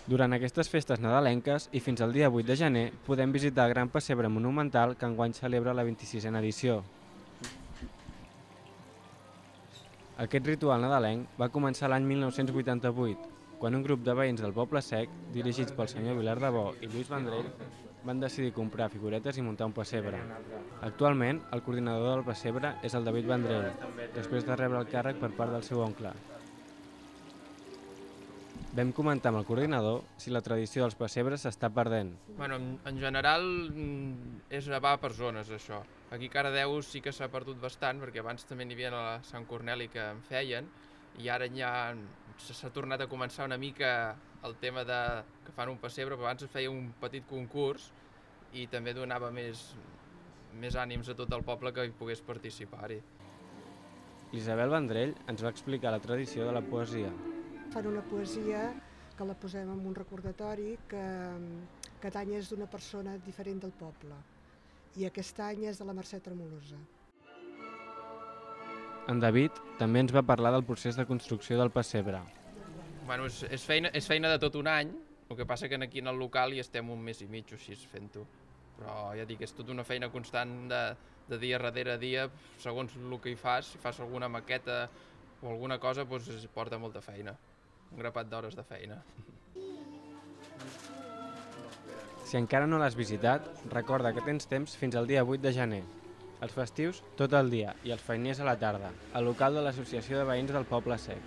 Durant aquestes festes nadalenques i fins al dia 8 de gener podem visitar el Gran Pessebre Monumental que enguany celebra la 26a edició. Aquest ritual nadalenc va començar l'any 1988, quan un grup de veïns del Poble Sec, dirigits pel senyor Vilar de Bo i Lluís Vendrell, van decidir comprar figuretes i muntar un pessebre. Actualment, el coordinador del pessebre és el David Vendrell, després de rebre el càrrec per part del seu oncle. Vam comentar amb el coordinador si la tradició dels pessebres s'està perdent. En general va per zones, això. Aquí a Cardedeu sí que s'ha perdut bastant, perquè abans també n'hi havia a Sant Corneli que en feien, i ara ja s'ha tornat a començar una mica el tema que fan un pessebre, però abans es feia un petit concurs i també donava més ànims a tot el poble que hi pogués participar-hi. L'Isabel Vendrell ens va explicar la tradició de la poesia. Fan una poesia que la posem en un recordatori que cada any és d'una persona diferent del poble i aquest any és de la Mercè Tremolosa. En David també ens va parlar del procés de construcció del pessebre. És feina de tot un any, el que passa que aquí en el local hi estem un mes i mig o així fent-ho. Però ja dic, és tota una feina constant de dia darrere dia, segons el que hi fas. Si fas alguna maqueta o alguna cosa, doncs porta molta feina. Un grapat d'hores de feina. Si encara no l'has visitat, recorda que tens temps fins al dia 8 de gener. Els festius, tot el dia, i els feiners a la tarda, al local de l'Associació de Veïns del Poble Sec.